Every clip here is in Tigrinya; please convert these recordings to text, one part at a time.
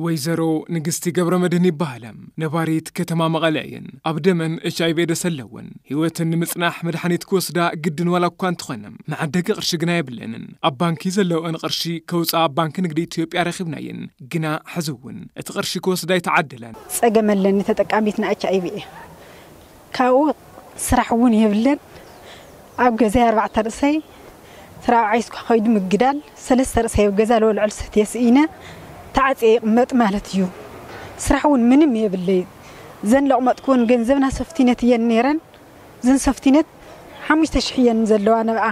ወይዘሮ ንግስቲ ገብረ መድህን ይበሃላ። ነባሪት ከተማ መቐለ እየን። ኣብ ደመን ኤች ኣይ ቪ ኤድስ ኣለወን። ህይወትን ንምጽናሕ መድሓኒት ክወስዳ ግድን ዋላ እኳ እንተኾነ፣ መዓደጊ ቅርሺ ግና የብለንን። ኣብ ባንኪ ዘለወን ቅርሺ ከውፅኣ ኣብ ባንኪ ንግዲ ኢትዮጵያ ረኺብናየን። ግና ሕዚ እውን እቲ ቅርሺ ክወስዳ ኣይተዓደላን። ጸገም ኣለኒ፣ ተጠቃሚት ን ኤች ኣይ ቪ እየ። ካብኡ ስራሕ እውን የብለን። ኣብ ገዛይ ኣርባዕተ ርእሰይ፣ ስራሕ ዓይስኳ ከይዱ ምግዳል፣ ሰለስተ ርእሰይ ኣብ ገዛ ልበልዖ ልሰትየ ስኢነ፣ ተዓጽየ ይቕመጥ ማለት እዩ። ስራሕ እውን ምንም የብለይ። ዘን ለቕመጥኩወን ገንዘብና ሰፍቲነት እየን ነይረን። ዘን ሰፍቲነት ሓሙሽተ ሽሕ እየን ዘለዋ ነብኣ።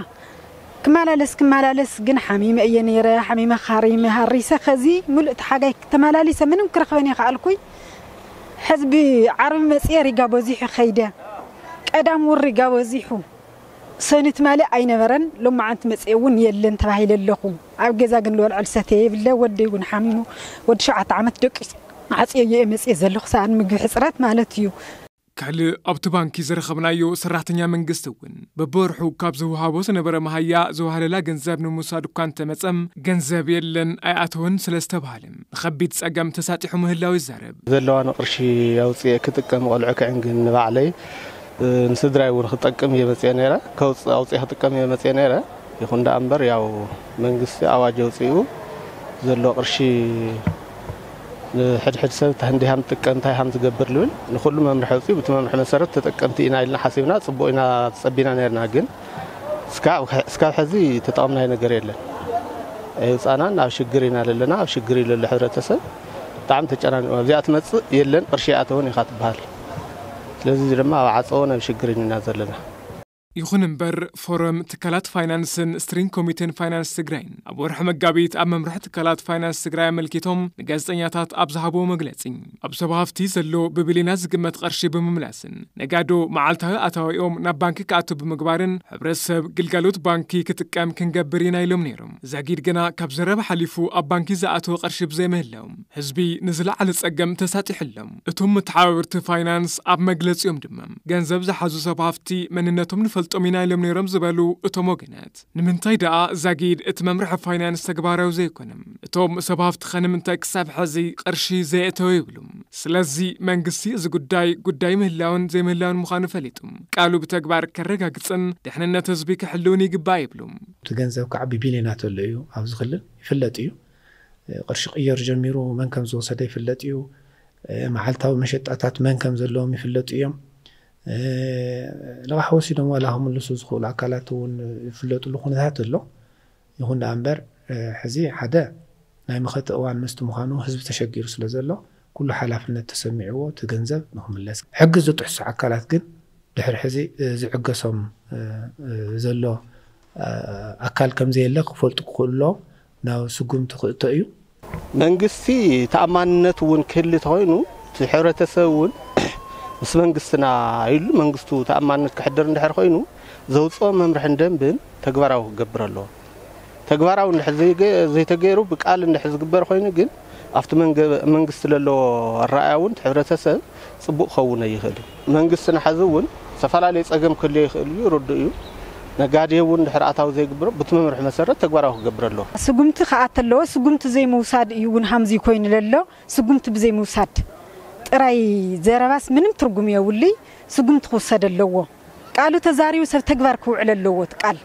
ክመላለስ ክመላለስ ግን ሓሚመ እየ ነይረ፣ ሓሚመ ካሪመ ሃሪሰ፣ ከዚ ምሉእ እቲ ሓጋይ ተመላሊሰ ምንም ክረኽበን የኸኣልኩይ። ሕዝቢ ዓርቢ መጽየ ሪጋ በዚሑ ከይደ። ቀዳም እውን ሪጋ በዚሑ። ሰኒ ትማሊ ኣይነበረን፣ ሎማዓንቲ መጽየ እውን የለን ተባሂለ ኣለኹ። ኣብ ገዛ ግን ልበልዖ ልሰትየ የብለ፣ ወደይ እውን ሓሚሙ፣ ወዲ ሸውዓተ ዓመት ደቂሱ ዓጽየዮ እየ መጽየ ዘለኹ፣ ሰኣን ምግቢ ሕጽረት ማለት እዩ። ካልእ ኣብቲ ባንኪ ዝረኸብናዮ ሰራሕተኛ መንግስቲ እውን፣ በብወርሑ ካብ ዝወሃቦ ዝነበረ መሃያ ዝወሃለላ ገንዘብ ንምውሳድ እኳ እንተመጸም፣ ገንዘብ የለን ኣይኣተወን ስለ ዝተባሃለ፣ ንኸቢድ ጸገም ተሳጢሑ ምህላው ይዛረብ። ዘለዋኒ ቅርሺ ኣውጽኤ ክጥቀም ቆልዑ ክዕንግን ንባዕለይ፣ እ፣ ንስድራይ እውን ክጠቅም እየ መጽኤ ነይረ። ከውጽእ ኣውጽኤ ክጥቀም እየ መጽኤ ነይረ። ይኹን ደኣ እምበር፣ ያው መንግስቲ ኣዋጅ ኣውጺኡ ዘሎ ቅርሺ ንሕድሕድ ሰብ እንታይ እንዲሃም ትጥቀም፣ እንታይ ሃም ትገብር ልብል ንኹሉ መምርሒ ኣውጺኡ፣ ብቲ መምርሒ መሰረት ተጠቀምቲ ኢና ኢልና ሓሲብና፣ ጽቡቕ ኢና ጸቢና ነርና። ግን እስካ-፣ እስካብ ሕዚ ተጠቐምናዮ ነገር የለን። ኣይውጻናን፣ ኣብ ሽግር ኢና ዘለና፣ ኣብ ሽግር እዩ ዘሎ ሕብረተሰብ። ብጣዕሚ ተጨናኒቑ። ኣብዚኣ ትመጽእ የለን፣ ቅርሺ ይኣተውን ኢኻ ትበሃል። ስለዚ እዚ ድማ ኣብ ዓጸቦን ኣብ ሽግርን ኢና ዘለና። ይኹን እምበር፣ ፎረም ትካላት ፋይናንስን ስትሪንግ ኮሚቴን ፋይናንስ ትግራይን ኣብ ወርሒ መጋቢት ኣብ መምርሒ ትካላት ፋይናንስ ትግራይ ኣመልኪቶም ንጋዜጠኛታት ኣብ ዝሃብዎ መግለጺ፣ ኣብ ሰብ ሃፍቲ ዘሎ ብቢልዮናት ዝግመት ቅርሺ ብምምላስን ነጋዶ መዓልታዊ ኣታዊኦም ናብ ባንኪ ክኣቱ ብምግባርን ሕብረተሰብ ግልጋሎት ባንኪ ክጥቀም ክንገብር ኢና ኢሎም ነይሮም። ዛጊድ ግና ካብ ዘረባ ሓሊፉ ኣብ ባንኪ ዝኣተወ ቅርሺ ብዘይምህላው ህዝቢ ንዝለዓለ ጸገም ተሳጢሑ ኣሎ። እቶም መተሓባበርቲ ፋይናንስ ኣብ መግለጺኦም ድማ፣ ገንዘብ ዝሓዙ ሰብ ሃፍቲ መንነቶም ንፈልጦም ኢና ኢሎም ነይሮም ዝበሉ እቶም ወገናት፣ ንምንታይ ደኣ ዛጊድ እቲ መምርሒ ፋይናንስ ተግባራዊ ዘይኮነ? እቶም ሰብ ሃፍቲ ኸ ንምንታይ ክሳብ ሕዚ ቅርሺ ዘየእተወ ይብሉ። ስለዚ መንግስቲ እዚ ጉዳይ፣ ጉዳይ ምህላውን ዘይምህላውን ምዃኑ ፈሊጡ፣ ቃሉ ብተግባር ከረጋግጽን ድሕንነት ህዝቢ ክሕልውን ይግባእ ይብሉ። እቲ ገንዘብ ከዓ ብቢልዮናት ኣሎ እዩ፣ ኣብዚ ክልል ይፍለጥ እዩ። ቅርሺ ቅየር ጀሚሩ መን ከም ዝወሰደ ይፍለጥ እዩ። መዓልታዊ መሸጣታት መን ከም ዘለዎም ይፍለጡ እዮም። ልቓሕ ወሲዶም ዋላ ክምልሱ ዝኽእሉ ኣካላት እውን ይፍለጥሉ ኩነታት ኣሎ። ይኹን ደኣ እምበር፣ ሕዚ ሓደ ናይ መኸተ እዋን ምስቲ ምዃኑ ህዝቢ ተሸጊሩ ስለ ዘሎ፣ ኩሉ ሓላፍነት ተሰሚዕዎ እቲ ገንዘብ ንኽምለስ። ሕጊ ዝጥሕሱ ኣካላት ግን ድሕሪ ሕዚ ዝዕገሶም ዘሎ ኣካል ከም ዘየለ ክፈልጡ ክኽእሉ ኣለዎም። ናብ ስጉምቲ ክእቶ እዩ። መንግስቲ ተኣማንነት እውን ክህሊ ተኾይኑ፣ እቲ ሕብረተሰብ እውን ምስ መንግስትና ኢሉ መንግስቱ ተኣማንነት ክሕድር እንድሕር ኮይኑ፣ ዘውፅኦ መምርሕን ደንብን ተግባራዊ ክገብር ኣለዎ። ተግባራዊ እንድሕር ዘይገ-፣ ዘይተገይሩ ብቃል እንድሕር ዝግበር ኮይኑ ግን፣ ኣብቲ መንገ-፣ መንግስቲ ለለዎ ኣረኣእያ እውን እቲ ሕብረተሰብ ጽቡቕ ክኸውን ኣይኽእል እዩ። መንግስትና ሕዚ እውን ዝተፈላለየ ጸገም ክህልዮ ይኽእል እዩ፣ ርዱእ እዩ። ነጋዴ እውን ድሕሪ ኣታዊ ዘይግብሮ ብቲ መምርሒ መሰረት ተግባራዊ ክገብር ኣለዎ። ስጉምቲ ክኣተ ኣለዎ። ስጉምቲ ዘይምውሳድ እዩ እውን ሃምዚ ኮይኑ ለሎ። ስጉምቲ ብዘይምውሳድ ጥራይ ዘረባስ ምንም ትርጉም የብሉይ። ስጉምቲ ክውሰድ ኣለዎ። ቃሉ ተዛሪቡ ሰብ ተግባር ክውዕል ኣለዎ። እቲ ቃል